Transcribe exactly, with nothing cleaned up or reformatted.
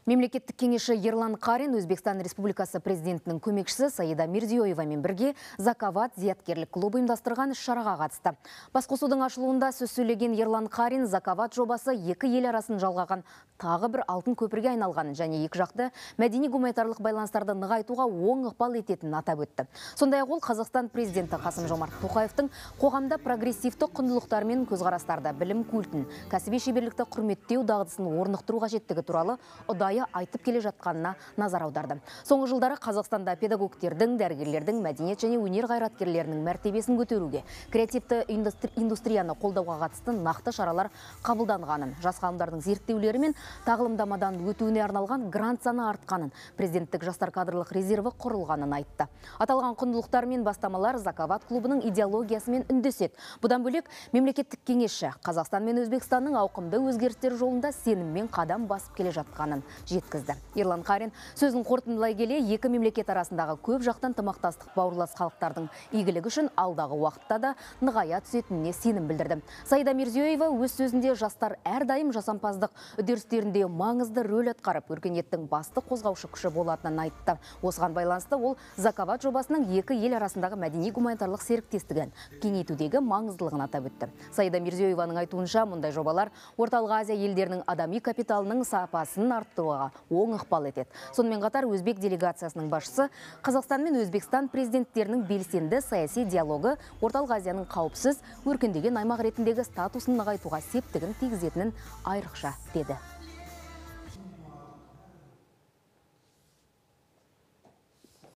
Мемлекеттік кеңесші Ерлан Қарин Өзбекстан Республикасы президентінің көмекшісі Саида Мирзиёевамен бірге Закават зияткерлік клубы ұйымдастырған іс-шараға қатысты. Басқосудың ашылуында сөз сөйлеген Ерлан Қарин Закават жобасы екі ел арасын жалғаған тағы бір алтын көпірге айналғанын және екі жақты мәдени-гуманитарлық байланыстарды нығайтуға оң ықпал ететінін атап өтті. Сондай-ақ ол Қазақстан президенті Қасым-Жомарт Тоқаевтың қоғамда прогрессивті құндылықтар мен көзқарастарды, білім культін, кәсіби шеберлікті құрметтеу дағдысын орнықтыру қажеттігі туралы ұдайы айтып келе жатқанына назар аударды. Соңғы жылдары Қазақстанда педагогтердің, дәрігерлердің, мәдениет және өнер қайраткерлерінің мәртебесін көтеруге, креативті индустрияны қолдауға қатысты нақты шаралар қабылданғанын, жас ғалымдардың зерттеулері мен тағылымдамадан өтуіне арналған грант саны артқанын, президенттік жастар кадрлық резерві құрылғанын айтты. Аталған құндылықтар мен бастамалар Закават клубының идеологиясымен үндеседі. Бұдан бөлек мемлекеттік кеңесші Қазақстан мен Өзбекстанның ауқымды өзгерістер жолында сеніммен қадам басып келе жатқанын жеткізді. Ерлан Қарин сөзін қорытындылай келе, екі мемлекет арасындағы көп жақтан ынтымақтастық бауырлас халықтардың игілігі үшін алдағы уақытта да нығая түсетініне сенім білдірді. Саида Мирзиёева өз сөзінде жастар әрдайым жасампаздық үдерістерінде маңызды рөл атқарып, өркениеттің басты қозғаушы күші болатынын айтты. Осыған байланысты ол Закават жобасының екі ел арасындағы мәдени-гуманитарлық серіктестігін кеңейтудегі маңыздылығын атап өтті. Саида Мирзиёеваның айтуынша, мұндай жобалар Орталық Азия елдерінің адами капиталының сапасын арттыруға оң ықпал етеді. Сонымен қатар Өзбек делегациясының басшысы Қазақстан мен Өзбекстан президенттерінің белсенді саяси диалогы Орталық Азияның қауіпсіз, өркендеген аймақ ретіндегі статусын нығайтуға септігін тигізетінін айрықша деді.